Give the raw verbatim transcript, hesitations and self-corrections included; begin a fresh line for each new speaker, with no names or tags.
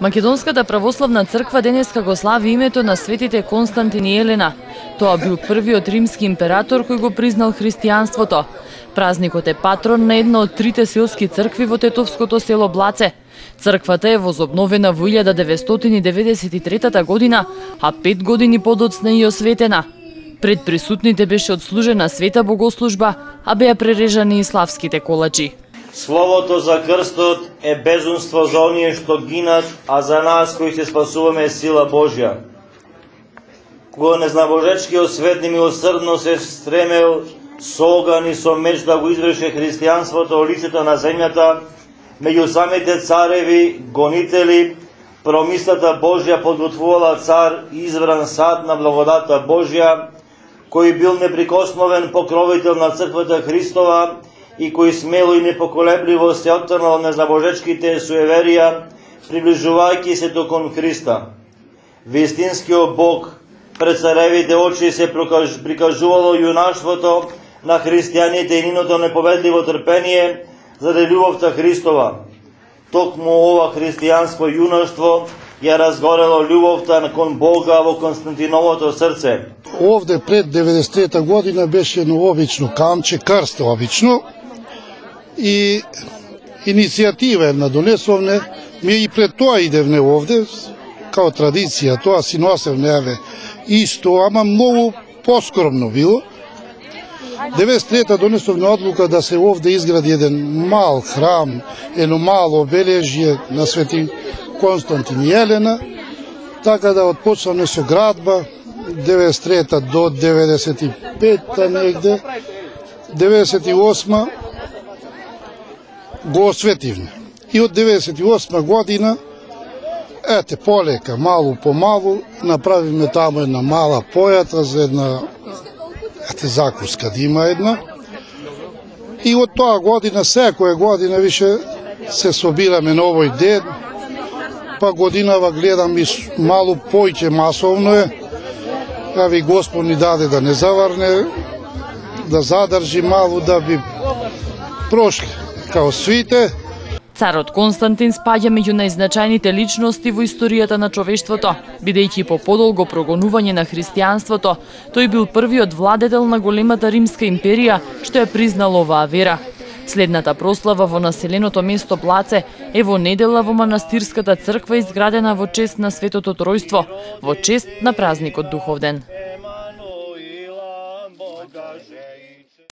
Македонската православна црква денеска го слави името на светите Константин и Елена. Тоа бил првиот римски император кој го признал христијанството. Празникот е патрон на една од трите селски цркви во тетовското село Блаце. Црквата е возобновена во илјада деветстотини деветдесет и трета година, а пет години подоцна и осветена. Пред присутните беше одслужена света богослужба, а беа прережани и славските колачи.
Словото за крстот е безумство за оние што гинат, а за нас кои се спасуваме е сила Божја. Кога незнабожечкиот свет немилосрдно се стремел со оган и со меч да го изврши христијанството во лицето на земјата, меѓу самите цареви, гонители, промислата Божја подготвувала цар избран сад на благодата Божја, кој бил неприкосновен покровител на црквата Христова и кој смело и непоколебливо се оттрнал незнабожечките суеверија, приближувајќи се до кон Христа. Вистинскиот Бог пред царевите очи се прикажувало јунаштвото на христијаните и ниното неповедливо трпение заради љубовта Христова. Токму ова христијанско јунаштво ја разгорело љубовта кон Бога во Константиновото срце.
Овде пред деветдесет и трета година беше едно обично камче, крст обично, и иницијатива една донесовне, ми и пред тоа идевне овде, као традиција, тоа си носевне, еве, исто, ама многу поскромно било. деветдесет и трета донесовне одлука да се овде изгради еден мал храм, едно мало обележје на свети Константин и Елена, така да отпочнаме со градба, деветдесет и трета до деветдесет и пета негде, деветдесет и осма го осветивме. И од деветдесет и осма година, ете, полека, малу по малу, направивме таму една мала појата за една, ете, закуска да има една. И од тоа година, секоја година више се собираме на овој ден, па годинава гледам и малу појќе масовно е, а ви Господ ни даде да не заварне, да задржи малу, да би прошли као свите.
Царот Константин спаѓа меѓу најзначајните личности во историјата на човештвото, бидејќи по подолго прогонување на христијанството, тој бил првиот владетел на големата римска империја што ја признал оваа вера. Следната прослава во населеното место Блаце е во недела во манастирската црква изградена во чест на Светото Тројство, во чест на празникот Духовден.